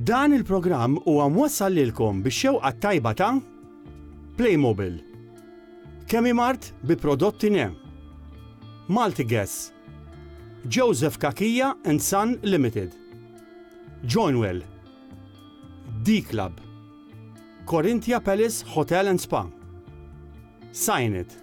Dan il-programm huwa mwassal lilkom bix-xewqa t-tajba ta' Playmobil, Chemimart bi prodotti ne, Multigas, Joseph Cachia and Son Limited, Joinwell, D-Club, Corinthia Palace Hotel and Spa, Sign It.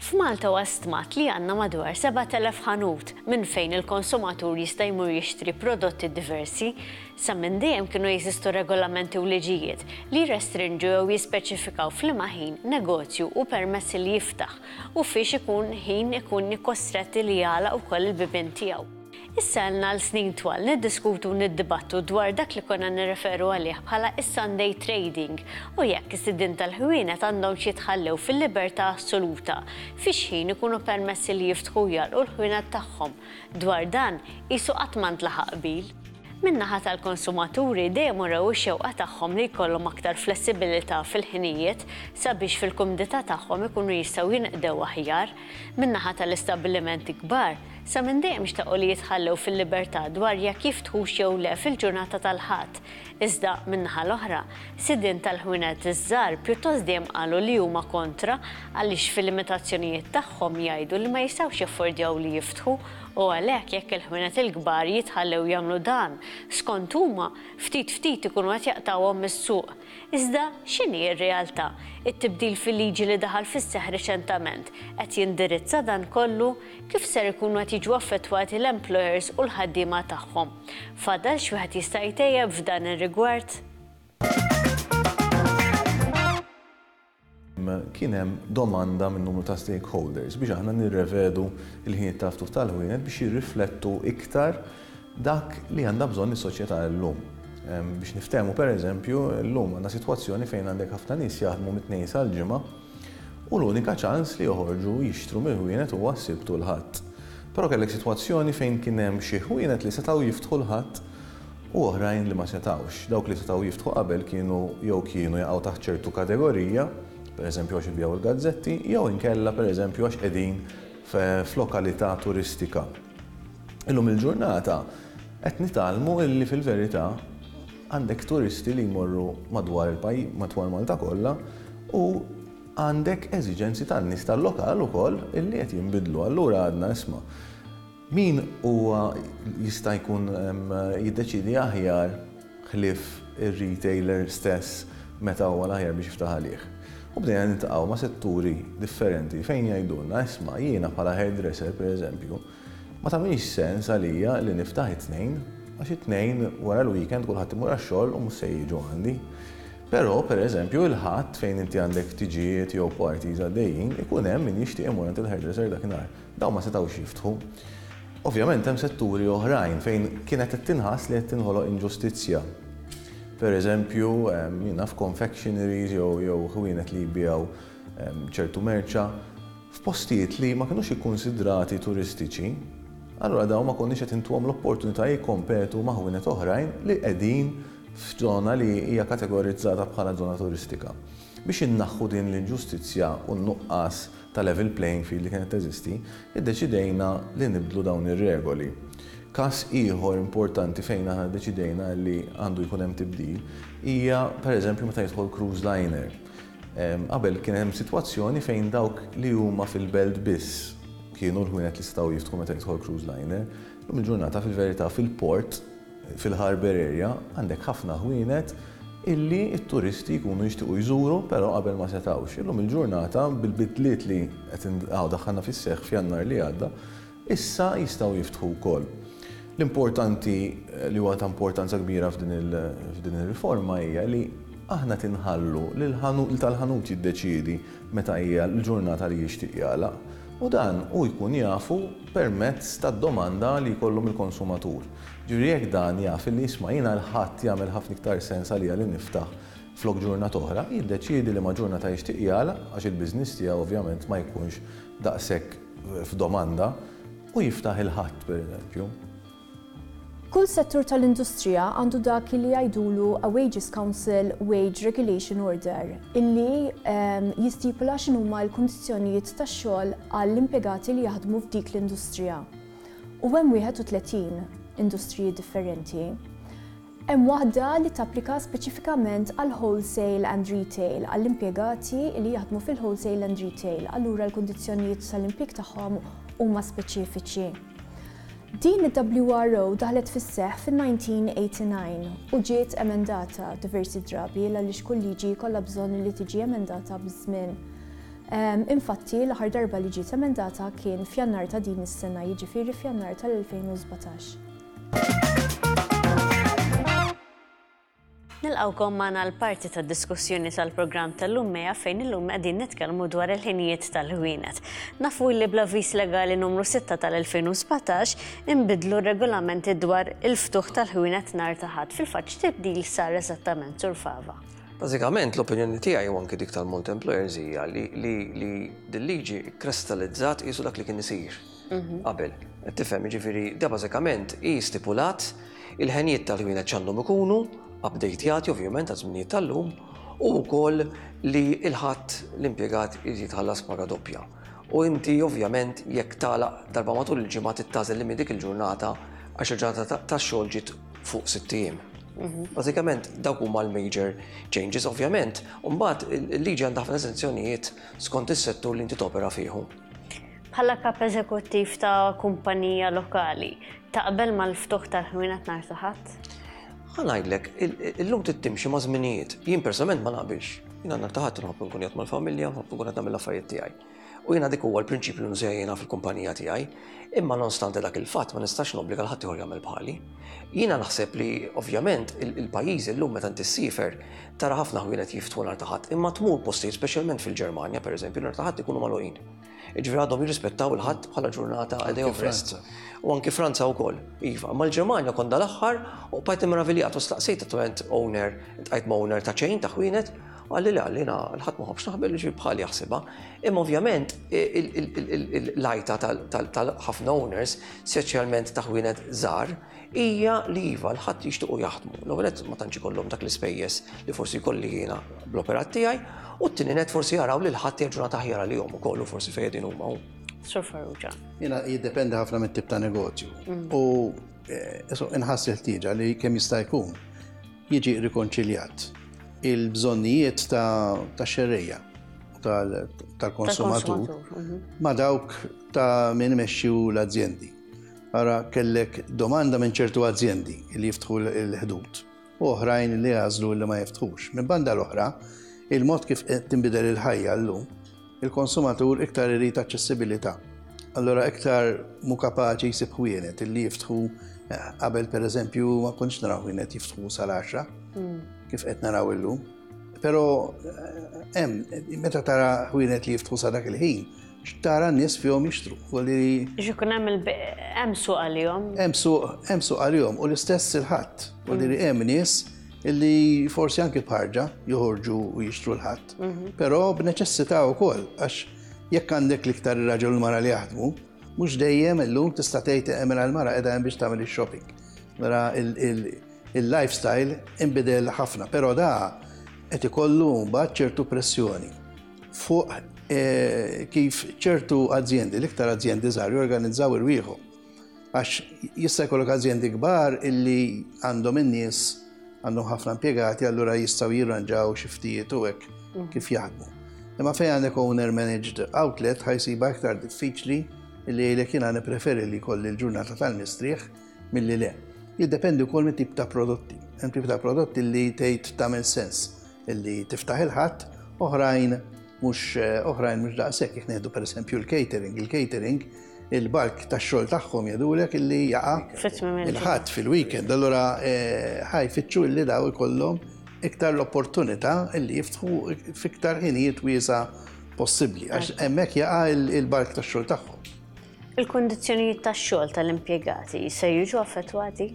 F'Malta huwa stmat li għandna madwar 7,000 ħanut minn fejn il-konsumatur jista' jmur jixtri prodotti diversi. Sa minn dejjem kienu jeżistu regolamenti u liġijiet li jirrestrinġu jew jispeċifikaw f'liema ħin negozju hu permess li jiftaħ u fiex ikun ħin ikun kostretti li jagħlaq ukoll il-bibien tiegħu. Issa ilna għal snin twal niddiskutu u niddibattu dwar dak li konna nirreferu għalih bħala is-Sunday trading u jekk is-sidien tal-ħwienet għandhomx jitħallew fil-libertà assoluta fi x'ħin ikunu permessi li jiftħu u jagħlqu l-ħwienet tagħhom. Dwar dan, qisu qatt ma ntlaħaq qbil. Min-naħa tal-konsumaturi dejjem urew ix-xewqa tagħhom li jkollhom aktar flessibilità fil-ħinijiet sabiex fil-kumdità tagħhom ikunu jistgħu jinqdew aħjar. Min-naħa tal-istabbilimenti kbar, sa minn dejjem xtaqu li jitħallew fil-libertà dwar jekk jiftħux jew le fil-ġurnata tal-Ħadd. Iżda, min-naħa l-oħra, sidien tal-ħwienet iż-żgħar pjuttost dejjem qalu li huma kontra għaliex fil-limitazzjonijiet tagħhom jgħidu li ma jistgħux jaffordjaw li jiftħu u għalhekk jekk il-ħwienet il-kbar jitħallew jagħmlu dan, skont huma, ftit ftit ikunu qed jaqtgħuhom mis-suq. Iżda, x'inhi r-realtà? It-tibdil fil-liġi li daħal fis-seħħ riċentament qed jindirizza dan kollu? Kif ser ikunu qed jiġu affettwati l-employers u l-ħaddiema tagħhom? Fadal x'wieħed jista' jtejjeb f'dan ir-rigward? Kien hemm domanda minn numru ta' stakeholders biex aħna nirrevedu l-ħinijiet tal-ftuħ tal-ħwienet biex jirriflettu iktar dak li għandha bżonn is-soċjetà llum. Biex niftehmu pereżempju, llum għandna sitwazzjoni fejn għandek ħafna nies jaħdmu mit-Tnejn sal-Ġimgħa u l-unika ċans li joħorġu jixtru mill-ħwienet huwa s-Sibt u l-Ħadd. Però kellek sitwazzjoni fejn kien hemm xi ħwienet li setgħu jiftħu l-Ħadd u oħrajn li ma setgħux. Dawk li setgħu jiftħu qabel kienu jew kienu jaqgħu taħt ċertu kategorija, pereżempju għax ibigħu l-gazzetti, jew inkella pereżempju għax qegħdin f'lokalità turistika. Illum il-ġurnata qed nitgħallmu illi fil-verità għandek turisti li jmorru madwar il-pajjiż, madwar Malta kollha u għandek eżiġenzi tan-nies tal-lokal ukoll illi qed jinbidlu. Allura għadna isma' Min huwa jista' jkun jiddeċiedi aħjar ħlief ir-retailer stess meta huwa l-aħjar biex jiftaħ għalih? U bdejna niltaqgħu ma' setturi differenti fejn jgħidulna, isma' jiena bħala hairdresser pereżempju, ma tagħmilx sens għalija li niftaħ it-Tnejn għax it-Tnejn wara l-weekend kulħadd imur għax-xogħol u mhux se jiġu għandi. Però, pereżempju, il-Ħadd fejn inti għandek tiġijiet jew parties għaddejjin, ikun hemm min jixtieq imur għand il-hairdresser dakinhar. Dawn ma setgħux jiftħu. Ovvjament hemm setturi oħrajn fejn kienet qed tinħass li qed tinħoloq inġustizzja. Per eżempju, jien naf confectioneries jew jew ħwienet li jbigħu ċertu merċa f'postijiet li ma kinux ikkunsidrati turistiċi, allura dawn ma konniex qed intuhom l-opportunità jikkompetu ma' ħwienet oħrajn li qegħdin f'żona li hija kategorizzata bħala żona turistika. Biex innaħħu din l-inġustizzja u n-nuqqas ta' level playing field li kienet teżisti, iddeċidejna li nibdlu dawn ir-regoli. Każ ieħor importanti fejn aħna ddeċidejna li għandu jkun hemm tibdil hija pereżempju meta jidħol cruise liner. Qabel kien hemm sitwazzjoni fejn dawk li huma fil-belt biss kienu l-ħwienet li setgħu jiftħu meta jidħol cruise liner. Illum il-ġurnata fil-verità fil-port Fil-harbour area għandek ħafna ħwienet illi t-turisti jkunu jixtiequ jżuru però qabel ma setgħux. Illum il-ġurnata bil-bidliet li qed daħħalna fis-seħħ f'Jannar li għadda, issa jistgħu jiftħu wkoll. L-importanti li huwa ta' importanza kbira f'din ir-riforma hija li aħna tinħallu lil tal-ħanut jiddeċiedi meta hija l-ġurnata li jixtieq jagħlaq. U dan hu jkun jafu permezz tad-domanda li jkollu mill-konsumatur. Ġifieri jekk dan jaf illi isma' jiena l-Ħadd jagħmel ħafna iktar sens għalija li niftaħ flok ġurnata oħra, jiddeċiedi liema ġurnata jixtieq jagħlaq għax il-business tiegħu ovvjament ma jkunx daqshekk f'domanda u jiftaħ il-Ħadd pereżempju. Kull settur tal-industrija għandu dak illi jgħidulu a Wages Council Wage Regulation Order illi jistipula x'inhuma l-kundizzjonijiet tax-xogħol għall-impjegati li jaħdmu f'dik l-industrija. U hemm 31 industriji differenti. Hemm waħda li tapplika speċifikament għall-wholesale and retail, għall-impjegati li jaħdmu fil-wholesale and retail, allura l-kundizzjonijiet tal-impjieg tagħhom huma speċifiċi. Din id-WRO daħlet fis-seħħ fin-1989 u ġiet emendata diversi drabi għaliex kull liġi jkollha bżonn li tiġi emendata biż-żmien. Infatti, l-aħħar darba li ġiet emendata kien f'Jannar ta' din is-sena, jiġifieri f'Jannar tal-2017. Nilqgħukom magħna għal parti tad-diskussjoni tal-programm tal-lum Mea fejn illum qegħdin nitkellmu dwar il-ħinijiet tal-ħwienet. Nafu li bl-avviż legali numru 6 tal-2017 inbidlu r-regolamenti dwar il-ftuħ tal-ħwienet nhar ta' Ħadd. Fil-fatt x'tibdil sar eżattament, Sur Fava? Bażikament l-opinjoni tiegħi u anki dik tal-Malta Employers hija li li li dil-liġi kkristalizzat qisu dak li kien isir. Qabel. Qed tifhem, jiġifieri da bażikament hi stipulat il-ħenjiet tal-ħwienet x'għandhom ikunu, updatejati ovvjament għaż-żminijiet tal-lum, u wkoll li l-ħadd l-impjegat irid jitħallas paga doppja. U inti ovvjament jekk tagħlaq darba matul il-ġimgħa trid tagħżel li minn dik il-ġurnata għax il-ġurnata tax-xogħol ġiet fuq sitt ijiem. Bażikament dawk huma l-major changes ovvjament, u mbagħad il-liġi għandha ħafna eżenzjonijiet skont is-settur li inti topera fih. Bħala kap eżekuttiv ta' kumpanija lokali, taqbel mal-ftuħ tal-ħwienet nhar ta' Ħadd? Ħa ngħidlek, illum trid timxi ma' żminijiet. Jien personalment ma naqbilx. Jiena nhar ta' Ħadd nħobb nkun qiegħed mal-familja, nħobb nkun qed nagħmel l-affarijiet tiegħi. U jiena dik huwa l-prinċipju li nuża jiena fil-kumpanija tiegħi. Imma nonostante dak il-fatt ma nistax nobbliga l ħadd ieħor jagħmel bħali. Jiena naħseb li ovvjament il-pajjiżi llum meta inti ssiefer tara ħafna ħwienet jiftħu nhar ta' Ħadd, imma tmur postijiet speċjalment fil-Ġermanja pereżempju nhar ta' Ħadd ikunu magħluqin. Jiġifieri għadhom jirrispettaw il-Ħadd bħala ġurnata a day of rest. U anki Franza wkoll, iva. Ma l-Ġermanja kont dal-aħħar u bqajt immeraviljat u staqsejt attualment owner, iltqajt ma' owner ta' chain ta' ħwienet, u qalli le qalli jiena l-Ħadd ma nħobbx naħbel jiġifieri bħali jaħsibha. Imma ovvjament l-għajta tal-ħafna owners, speċjalment ta' ħwienet żgħar, hija li iva l-Ħadd jixtiequ jaħdmu. L-ewwel nett ma tantx ikollhom dak l-ispejjeż li forsi jkolli jiena bl-operat tiegħi, u t-tieni nett forsi jaraw li l-Ħadd hija ġurnata aħjar għalihom ukoll u forsi fejn qegħdin huma. Sur Farrugia. Jiena jiddependi ħafna mit-tip ta' negozju. U inħass il-ħtieġa li kemm jista' jkun jiġi rikonċiljat il-bżonnijiet ta' xerrejja tal-konsumatur ma' dawk ta' min imexxi l-azjendi. Ara kellek domanda minn ċertu azjendi li jiftħu l-ħdud u oħrajn li għażlu li ma jiftħux. Minn banda l-oħra, il-mod kif qed tinbidel il-ħajja llum, il-konsumatur iktar irid aċċessibilità. Allura iktar mhu kapaċi jsib ħwienet li jiftħu eh, qabel pereżempju ma kontx naraw ħwienet jiftħu sal-10 kif qed naraw illum. Però eh, hemm meta tara ħwienet li jiftħu sa dak il-ħin, X'tara n-nies fihom jixtru. Biex ikun hemm hemm suq għalihom. Hemm suq, hemm suq għalihom u l-istess il-ħadd. U li hemm nies illi forsi anki bħarġa joħorġu u jixtru l-ħadd. Mhm. Però b'neċessità wkoll għax jekk għandek l-iktar ir-raġel u l-mara li jaħdmu, mhux dejjem illum tista' tgħid mela l-mara qiegħda hemm biex tagħmel ix-shopping. Mela il-lifestyle inbidel ħafna, però da qed ikollu mbagħad ċertu pressjoni. fuq eh, kif ċertu azjendi, l-iktar azjendi żgħar jorganizzaw irwieħhom. Għax jista' jkollok azjendi kbar illi għandhom in-nies għandhom ħafna impjegati allura jistgħu jirranġaw xi ftijiet u hekk mm. kif jaħdmu. Imma fejn għandek owner managed outlet ħajsiba iktar diffiċli illi jgħidlek jiena nippreferi li jkolli l-ġurnata tal-mistrieħ milli le. Jiddependi wkoll mit-tip ta' prodotti. Hemm tip ta' prodotti li tgħid tagħmel sens illi tiftaħ il-Ħadd, oħrajn mhux eh, oħrajn mhux daqshekk jekk nieħdu pereżempju l-catering, il-catering il-bark tax-xogħol tagħhom jgħidulek illi jaqa' il-ħadd fil-weekend, allura eh, ħaj fitxu illi daw ikollhom iktar l-opportunità illi jiftħu fiktar ħinijiet wiesa. possibbli għax hemmhekk jaqa' il-bark tax-xogħol tagħhom. Il-kundizzjonijiet tax-xogħol tal-impjegati se jiġu affettwati?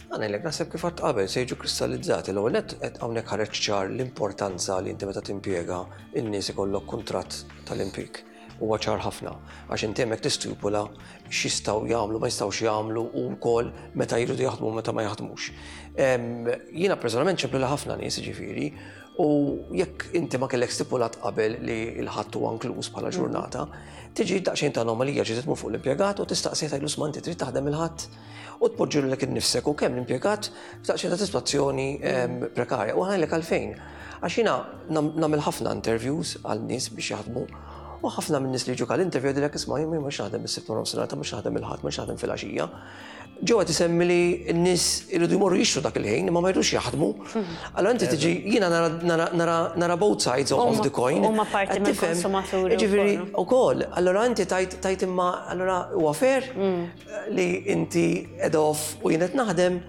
Għanajlek naħseb kif għadt qabel se jiġu kristallizzati l-ewwel nett qed hawnhekk ħareġ ċar l-importanza li inti meta timpjega n-nies ikollok kuntratt tal-impjieg. Huwa ċar ħafna għax inti hemmhekk tistipula x'jistgħu jagħmlu, ma jistgħux jagħmlu u wkoll meta jridu jaħdmu meta ma jaħdmux. Jiena personalment ċemplu ħafna nies ġifieri u jekk inti ma kellek stipulat qabel li l-ħadd huwa inkluż bħala ġurnata, tiġi daqsxejn ta' anomalija ġiet tmur fuq l-impjegat u tistaqsi tgħidlu sma inti trid taħdem il-ħadd u tpoġġilek innifsek u kemm l-impjegat f'daqsxejn ta' sitwazzjoni prekarja. U ħajlek għalfejn. Għax jiena nagħmel ħafna interviews għal nies biex jaħdmu u ħafna minn nies li jiġu għal interview jgħidilek isma' jien mhux naħdem is-sibt nofsinhar ta' mhux naħdem il-ħadd, mhux naħdem fil-għaxija. Ġewwa tisemmi li n-nies iridu jmorru jixtru dak il-ħin imma ma jridux jaħdmu. Allora inti tiġi jiena nara nara both sides of the coin. Huma parti mill-konsumaturi. Ġifieri wkoll, allora inti tajt tajt imma allora huwa fair li inti ed off u jien qed naħdem.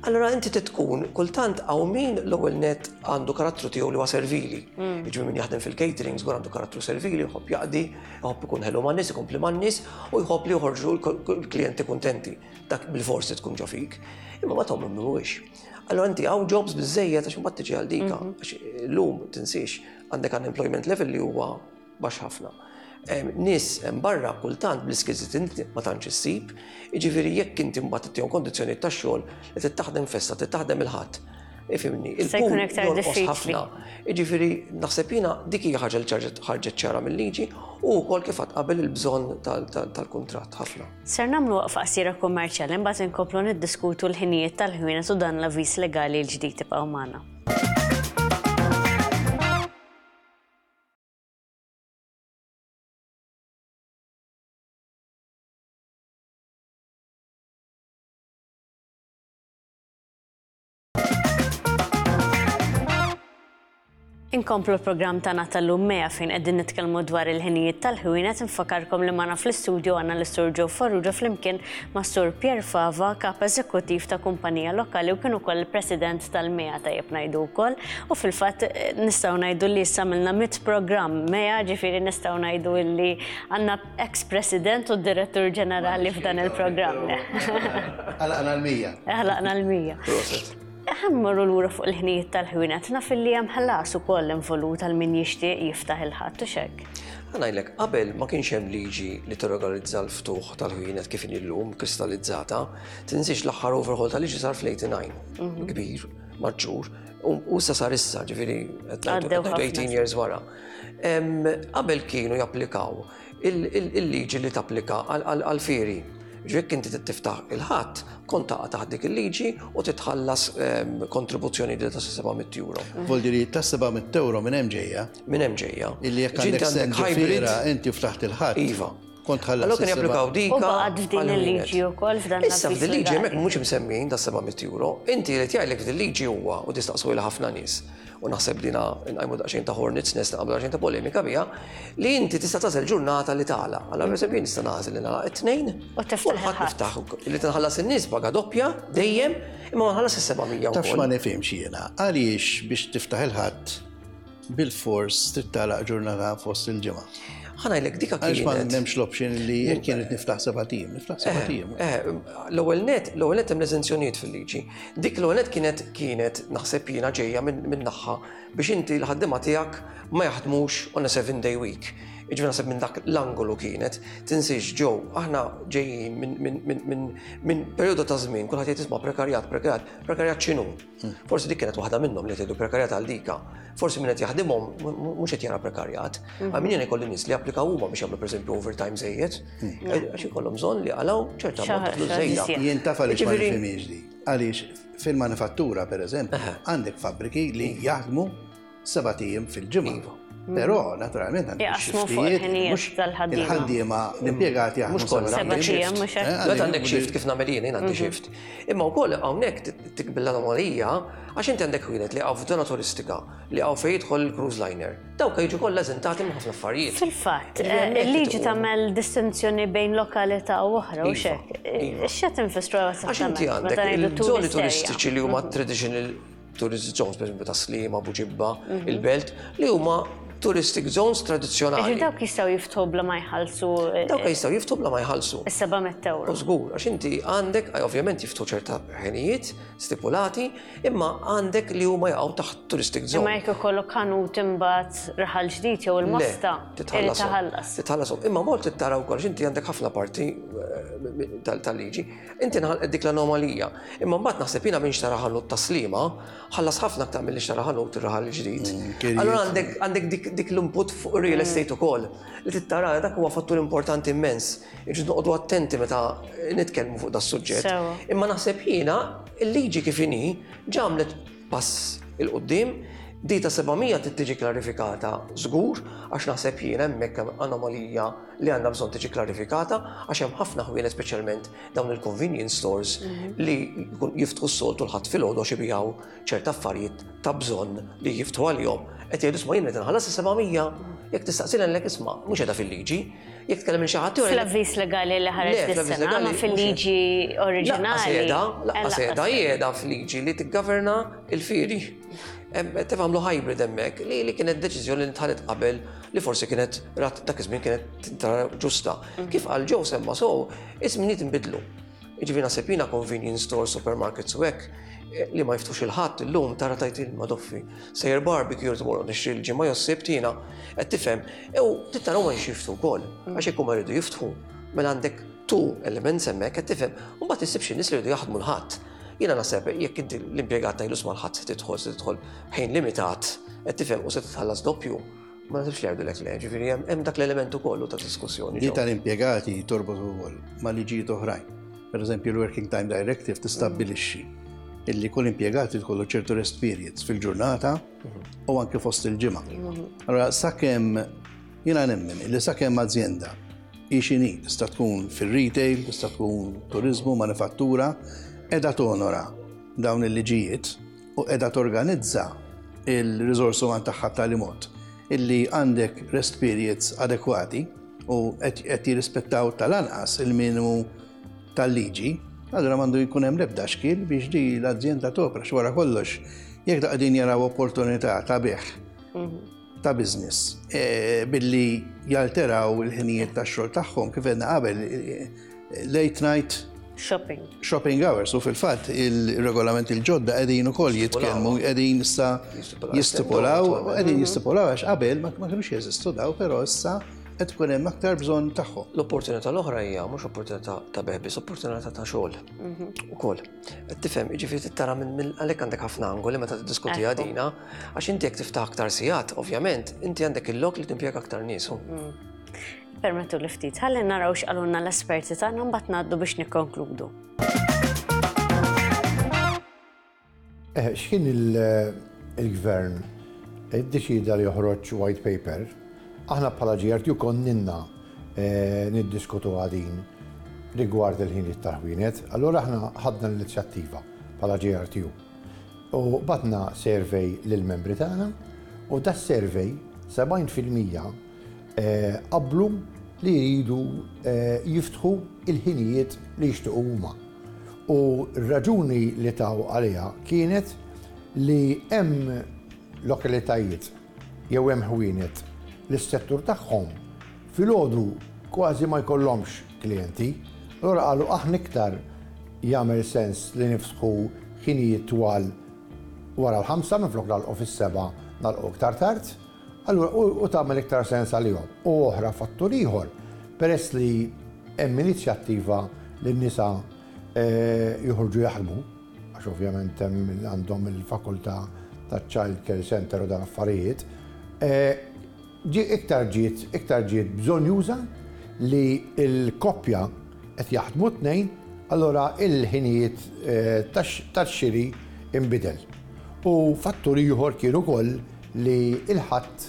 Allora inti tkun kultant hawn min l-ewwel net għandu karattru tiegħu li huwa servili. Mm. Jiġifieri min jaħdem fil-catering żgur għandu karattru servili, jħobb jaqdi, jħobb ikun ħelu man-nies, ikompli man-nies u jħobb li joħorġu l-klijenti kuntenti. Dak bil-forsi tkun ġo fik. Imma ma tagħmlu mhuwiex. Allora inti hawn jobs biżejjed għax imbagħad tiġi għal dika. Mhm. Għax illum tinsiex għandek unemployment level li huwa baxx ħafna. Nies hemm barra kultant bl-iskills li inti ma tantx issib, jiġifieri jekk inti mbagħad ittihom kondizzjonijiet tax-xogħol li trid taħdem festa, trid taħdem il-ħadd. Ifhimni, il-pull jonqos ħafna. Jiġifieri naħseb jiena dik hija ħaġa li ħarġet ċara mill-liġi u wkoll kif għad qabel il-bżonn tal-kuntratt ħafna. Ser nagħmlu waqfa qasira kummerċjali imbagħad inkomplu niddiskutu l-ħinijiet tal-ħwienet u dan l-avviż legali l-ġdid ibqgħu magħna. Inkomplu l-programm tagħna tal-lum Mea fejn qegħdin nitkellmu dwar il-ħinijiet tal-ħwienet infakarkom li magħna fl-istudio għandna l-Sur Joe Farrugia flimkien ma' Sur Pierre Fava, kap eżekuttiv ta' kumpanija lokali u kien ukoll il-President tal-MEA tajjeb ngħidu wkoll. U fil-fatt nistgħu ngħidu li issa għamilna mit programm MEA, ġifieri nistgħu ngħidu li għandna ex-President u Direttur Ġenerali f'dan il-programm. Għalaqna l-100. Għalaqna l-100. Proset. Ħa mmorru lura fuq il-ħinijiet tal-ħwienet, naf illi hemm ħlas ukoll involut għal min jixtieq jiftaħ il-ħadd u x'hekk. Ħa ngħidlek, qabel ma kienx hemm liġi li tirregolarizza l-ftuħ tal-ħwienet kif inhi llum kristallizzata. Tinsiex l-aħħar overhaul tal-liġi sar fl-89, mhm. kbir, maġġur, u issa sar issa, ġifieri 18 years wara. Qabel kienu japplikaw il-liġi li tapplika għal-fieri. Ġifieri inti tiftaħ il-ħadd, kont taqa' taħt dik il-liġi u titħallas ehm, kontribuzzjoni li ta' 700 euro. Vuol dire ta' 700 euro minn hemm ġejja. Minn hemm ġejja. Illi jekk għandek send hybrid inti ftaħt il-ħadd. Iva. Kont ħallas. Allora kien japplikaw dika. U baqgħet f'din il-liġi wkoll f'dan Issa f'din liġi hemmhekk mhux imsemmijin ta' 700 euro. Inti li tgħidlek f'din liġi huwa u tistaqsu lil ħafna nies u naħseb dina nqajmu daqsxejn ta' hornets nest naqblu daqsxejn ta' polemika biha, li inti tista' tagħżel ġurnata li tagħlaq. Allora pereżempju jien nista' nagħżel li nagħlaq it-tnejn u tiftaħ niftaħ li tinħallas in-nies paga doppja dejjem imma ma nħallas is-700 Taf ma nifhimx jiena, għaliex biex tiftaħ il-ħadd bil-fors trid tagħlaq ġurnata fost il-ġimgħa. Ħa ngħidlek dika kienet. Għaliex ma m'hemmx l-option li jekk kienet niftaħ seba' tim, niftaħ seba' eh, tim. Eh, l-ewwel net, l-ewwel net hemm l-eżenzjonijiet fil-liġi. Dik l-ewwel net kienet kienet naħseb jiena ġejja minn naħa biex inti l-ħaddiema tiegħek ma jaħdmux on a seven day week. Iġifieri naħseb minn dak l-angolu kienet, tinsiex ġew, aħna ġejjin minn perjodu ta' żmien kulħadd jgħid isma' prekarjat, prekarjat, prekarjat x'inhu? Forsi dik kienet waħda minnhom li tgħidu prekarjat għal dika. Forsi min qed jaħdimhom mhux qed jara prekarjat. Mhm. Għal min jien ikolli nies li applikaw huma biex jagħmlu pereżempju overtime żejjed, mhm. eh, għax ikollhom bżonn li għalaw ċerta ammont ta' flus żejda. Jien taf għaliex ma nifhimhiex di. Għaliex fil-manifattura pereżempju għandek fabbriki li jaħdmu Sebat ijiem fil-ġimgħa. Iva. Però, naturalment, għandek xiftijiet, mhux il-ħaddiema l-impjegati jaħdmu Mhux kollha. Sebat ijiem, mhux hekk. Eh, Meta għandek xift kif nagħmel jien, jien għandi mhm. xift. Imma wkoll hawnhekk tikbil l-anomalija għax inti għandek wieħed li hawn f'żona turistika li hawn fejn jidħol il-cruise liner. Dawk jiġu kollha eżentati minn ħafna affarijiet. Fil-fatt, eh, il-liġi tagħmel distinzjoni bejn lokalità u oħra u iva, xek. Iva. X'qed infissru Għax inti għandek il-żoni turistiċi li huma mhm. traditional tourist zones, per esempio ta' Sliema, Buġibba, mhm. il-Belt, li huma Touristic zones tradizzjonali. Jiġifieri dawk jistgħu jiftħu bla ma jħallsu. Dawk jistgħu jiftħu bla ma jħallsu. Is-700 ewro. Żgur, għax inti għandek, ovvjament jiftħu ċerta ħinijiet stipulati, imma għandek li huma jaqgħu taħt touristic zone. Imma jekk ikollok ħanut imbagħad raħal ġdid jew il-mosta, titħallas. Titħallasom. Imma mod tara wkoll inti għandek ħafna parti eh, tal-liġi. Inti nħalqet dik l-anomalija. Imma mbagħad naħseb jiena minn xtara ħanut taslima, ħallas ħafna aktar milli xtara ħanut ir-raħal ġdid. Mm, Allura għandek għandek dik l-input fuq real mm. estate ukoll li tittara dak huwa fattur importanti immens. Irridu noqogħdu attenti meta nitkellmu fuq das-suġġett. Imma naħseb jiena il-liġi kif inhi ġamlet pass il-qudiem di ta' 700 trid tiġi klarifikata żgur għax naħseb jiena hemmhekk hemm anomalija li għandha bżonn tiġi klarifikata għax hemm ħafna ħwienet speċjalment dawn il-convenience stores mhm. li jiftħu s-soltu l-ħadd filgħodu għax ibijaw ċerta affarijiet ta' bżonn li jiftħu għalihom. Qed jgħidu isma' jien qed inħallas 700 jekk tistaqsilha lek isma' mhux qiegħda fil-liġi. Jekk tkellem minn xi ħadd Fl-avviż legali li ħareġ dis-sena, ma fil-liġi oriġinali. Laqas qiegħda qiegħda fil-liġi li tiggoverna il-fieri. Tifhamlu hybrid hemmhekk li li kienet deċiżjoni li tħadet qabel li forsi kienet rat dak iż-żmien kienet tara ġusta. Mhm. Kif qal ġew semma so, iż-żminijiet inbidlu. Jiġifieri naħseb jiena convenience stores, supermarkets u hekk eh, li ma jiftux il-ħadd illum tara tajt il-madoffi. Sejjer barbecue tmur nixtri l-ġimgħa jew s-sibt jiena qed tifhem. Ew tara huma jxifthu wkoll għax jekk huma jridu jiftħu mela għandek tu elements hemmhekk qed tifhem u mbagħad issib xi nies li jridu jaħdmu l-ħadd. Jiena naħseb jekk inti l-impjegat tgħidlu sma' l-ħadd se tidħol se tidħol ħin limitat qed tifhem u se titħallas doppju. Ma nasibx li jgħidulek le, ġifieri hemm dak l-element ukoll ta' diskussjoni. Li tal-impjegati torbot ukoll ma' liġijiet oħrajn. Per eżempju, l-Working Time Directive tistabbilixxi illi kull impjegat jkollu ċertu rest periods fil-ġurnata u anke fost il-ġimgħa. Allora sakemm jiena nemmen illi sakemm azjenda hi x'inhi, tista' tkun fir-retail, tista' tkun turizmu, manifattura, qiegħda tonora dawn il-liġijiet u qiegħda torganizza il-riżorsi uman tagħha b'tali mod illi għandek rest periods adekwati u qed jirrispettaw tal-anqas il-minimu tal-liġi, allura m'għandu jkun hemm l-ebda xkiel biex di l-azjenda topra x'wara kollox jekk da qegħdin jaraw opportunità ta' bih mhm. ta' business e, billi jalteraw il-ħinijiet tax-xogħol tagħhom kif għedna qabel e, late night shopping. Shopping hours u fil-fatt il-regolament il-ġodda qegħdin ukoll jitkellmu qegħdin issa jistipulaw qegħdin mhm. jistipulaw għax qabel ma kinux jeżistu daw però issa qed tkun hemm aktar bżonn tagħhom. L-opportunità l-oħra hija mhux opportunità ta' beħ biss, opportunità ta' xogħol mhm. ukoll. Qed tifhem, jiġifieri tara minn għalhekk għandek ħafna angoli meta tiddiskutiha dina, għax inti jekk tiftaħ aktar sigħat, ovvjament, inti għandek il-lok li timpjega aktar nies. Mm. Permettu li ftit, ħalli naraw x'qalulna l-esperti tagħna mbagħad ngħaddu biex nikkonkludu. Eh, x'kien il-gvern iddeċida li joħroġ white paper, aħna bħala GRTU konninna eh, niddiskutu għadin rigward il-ħin tal-ħwienet, allura aħna ħadna l-inizjattiva bħala GRTU. U batna survey lill-membri tagħna u da survey 70% qablu li jridu jiftħu il-ħinijiet li jixtiequ huma. U r-raġuni li taw għaliha kienet li hemm lokalitajiet jew hemm ħwienet li s-settur tagħhom filgħodu kważi ma jkollhomx klijenti. Allura qalu aħna iktar jagħmel sens li niftħu ħinijiet twal wara l-ħamsa minflok nagħlqu fis-sebgħa nagħlqu iktar tard. Allura, u tagħmel iktar sens għalihom. U oħra fattur ieħor, peress li hemm inizjattiva li n-nisa eh, joħorġu jaħdmu, għax ovvjament hemm għandhom il-fakultà ta' child care center u dan affarijiet, eh, ġi iktar ġiet iktar ġiet bżonjuża li l-koppja qed jaħdmu tnejn, allura il-ħinijiet eh, tax-xiri inbidel. U fattur ieħor kien ukoll li l-Ħadd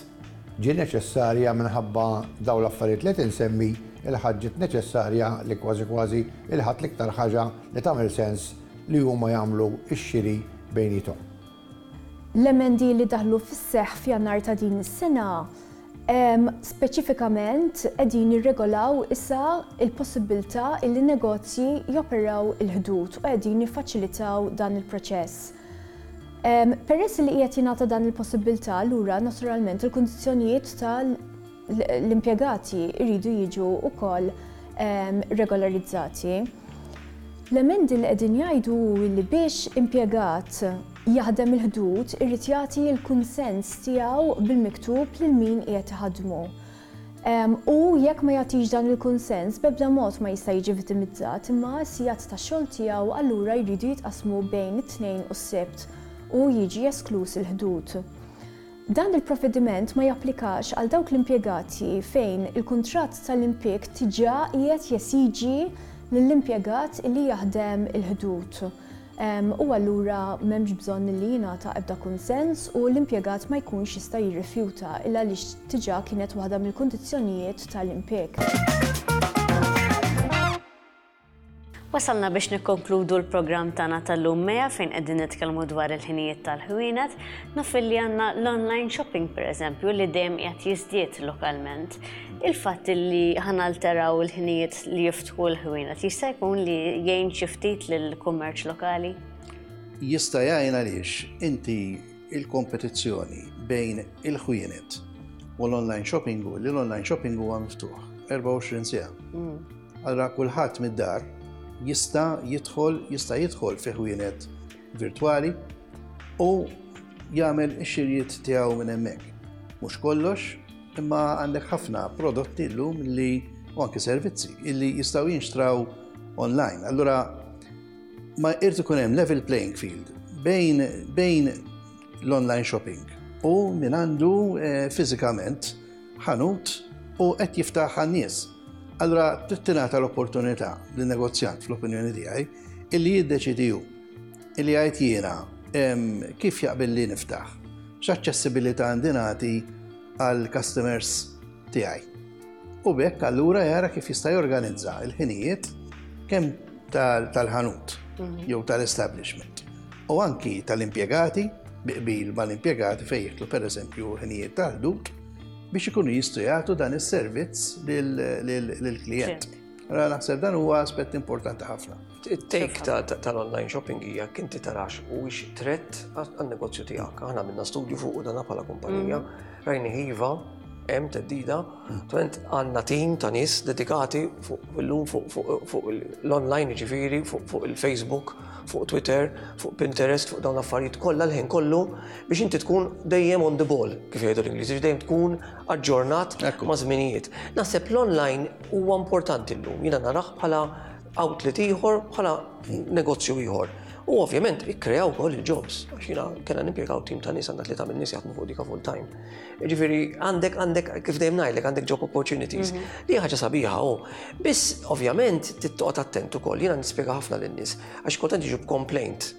ġie neċessarja minħabba dawn l-affarijiet li qed insemmi, il-Ħadd ġiet neċessarja li kważi kważi il-Ħadd l-iktar ħaġa li tagħmel sens li huma jagħmlu x-xiri bejniethom. L-emendi li daħlu fis-seħħ f'Jannar ta' din is-sena speċifikament qegħdin jirregolaw issa l-possibbiltà illi negozji joperaw il-Ħdud u qegħdin jiffaċilitaw dan il-proċess. Peress li qiegħed jingħata dan il-possibbiltà allura naturalment il-kundizzjonijiet ta' l-impjegati jridu jiġu wkoll regolarizzati. L-emendi li qegħdin jgħidu hu li biex impjegat jaħdem il-Ħdud irid jagħti l-kunsens tiegħu bil-miktub lil min qiegħed iħaddmu. U jekk ma jagħtix dan il-kunsens b'ebda mod ma jista' jiġi vittimizzat imma s-sigħat tax-xogħol tiegħu allura jridu jitqassmu bejn it-Tnejn u s-Sibt u jiġi eskluż il-Ħdud. Dan il-provvediment ma japplikax għal dawk l-impjegati fejn il-kuntratt tal-impieg diġà qiegħed jesiġi lill-impjegat li jaħdem il-Ħdud u allura m'hemmx bżonn li jingħata ebda kunsens u l-impjegat ma jkunx jista' jirrifjuta il għaliex diġà kienet waħda mill-kundizzjonijiet tal-impieg. Wasalna biex nikkonkludu l-programm tagħna tal-lum Mea fejn qegħdin nitkellmu dwar il-ħinijiet tal-ħwienet. Naf li għandna l-online shopping pereżempju li dejjem qiegħed jiżdied lokalment. Il-fatt li ħanalteraw il-ħinijiet li jiftħu l-ħwienet jista' jkun li jgħin xi ftit lill-kummerċ lokali? Jista' jgħin għaliex inti il-kompetizzjoni bejn il-ħwienet u l-online shopping u li l-online shopping huwa miftuħ 24 siegħa. Allura kulħadd mid-dar jista' jidħol jista' jidħol fi ħwienet virtwali u jagħmel ix-xirjiet tiegħu minn hemmhekk. Mhux kollox, imma għandek ħafna prodotti llum li u anke servizzi illi jistgħu jinxtraw online. Allura ma irid ikun hemm level playing field bejn, bejn l-online shopping u min għandu eh, fiżikament ħanut u qed jiftaħ għan-nies. Allura trid tingħata l-opportunità lin-negozjant fl-opinjoni tiegħi illi jiddeċidi hu illi jgħid jiena kif jaqbel li niftaħ, x'aċċessibilità għandi nagħti għall customers tiegħi. U b'hekk allura jara kif jista' jorganizza l-ħinijiet kemm tal-ħanut mhm. jew tal-establishment u anki tal-impjegati bi qbil mal-impjegati fejn jidħlu pereżempju ħinijiet tal-ħdud biex ikunu jistgħu jagħtu dan is-servizz lill-klijent. Allora naħseb dan huwa aspett importanti ħafna. It-take tal-online shopping hija kinti tarax u ix threat għan-negozju tiegħek. Aħna minna studju fuq dan bħala kumpanija, mm. rajni ħiva, hemm teddida, Twent għandna tim ta' nies dedikati fuq illum fuq l-online ġifieri, fuq il-Facebook, fuq Twitter, fuq Pinterest, fuq dawn l-affarijiet kollha l-ħin kollu biex inti tkun dejjem on the ball, kif jgħidu l-Ingliżi, dejjem tkun aġġornat ma' żminijiet. Naħseb l-online huwa importanti llum, jiena narah bħala outlet ieħor, bħala negozju ieħor. U ovvjament ikkrea wkoll il-jobs, għax jiena kellna nimpjegaw tim ta' nies għandna tlieta minn nies jaħdmu fuq dika full time. Ġifieri għandek għandek kif dejjem ngħidlek għandek job opportunities. Mhm. Li ħaġa sabiħa hu. Biss ovvjament tittoqgħod attent ukoll. Jiena nispjega ħafna lin-nies għax kultant jiġu b'complaint.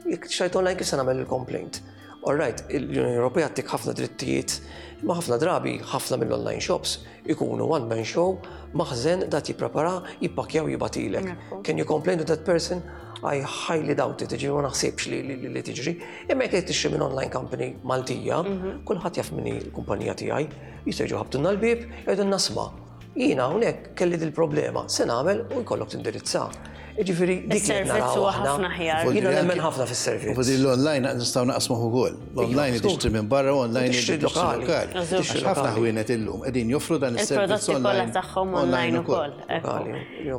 Jekk xajt online kif se nagħmel il-complaint? All right, l-Unjoni Ewropea tik ħafna drittijiet, imma ħafna drabi ħafna mill-online shops ikunu one man show, maħżen dat jipprepara, jippakkjaw jibatilek. Can you complain to that person? I highly doubt it, ġifieri ma naħsibx li tiġri. Imma jekk qed tixtri minn online company Maltija, mhm. kulħadd jaf minni l-kumpanija tiegħi, jistgħu jiġu ħabtulna l-bieb, jgħidulna sma. Jiena hawnhekk kelli dil-problema, se nagħmel u jkollok tindirizza. Ġifieri dik li naraw aħna. Jiena nemmen ħafna fis-servizz. U l-online nistgħu naqsmuh ukoll. L-online tixtri minn barra u online tixtri lokali. Ħafna ħwienet illum qegħdin joffru dan is-servizz online. tagħhom online ukoll.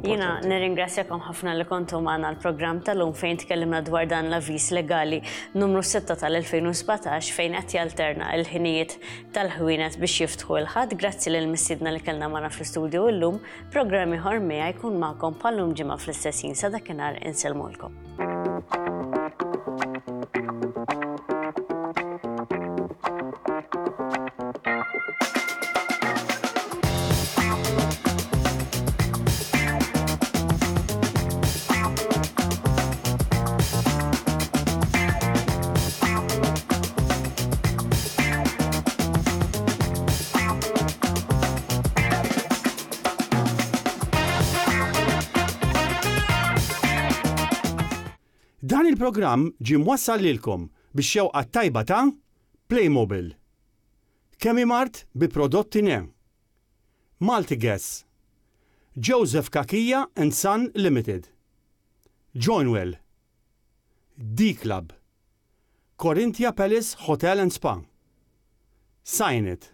Jiena nirringrazzjakom ħafna li kontu magħna l-programm tal-lum fejn tkellimna dwar dan l-avviż legali numru 6 tal-2017 fejn qed jalterna l-ħinijiet tal-ħwienet biex jiftħu l-Ħadd. Grazzi lil mistiedna li kellna magħna fl-istudju illum. Programm ieħor miegħi jkun magħkom bħal-lum ġimgħa fl-istess ħin sa dakinhar insellmulkom. Dan il-programm ġie mwassal lilkom bix-xewqa t-tajba ta' Playmobil, Chemimart bi prodotti ne, Multigas, Joseph Cachia and Son Limited, Joinwell, D-Club, Corinthia Palace Hotel and Spa. Sign it.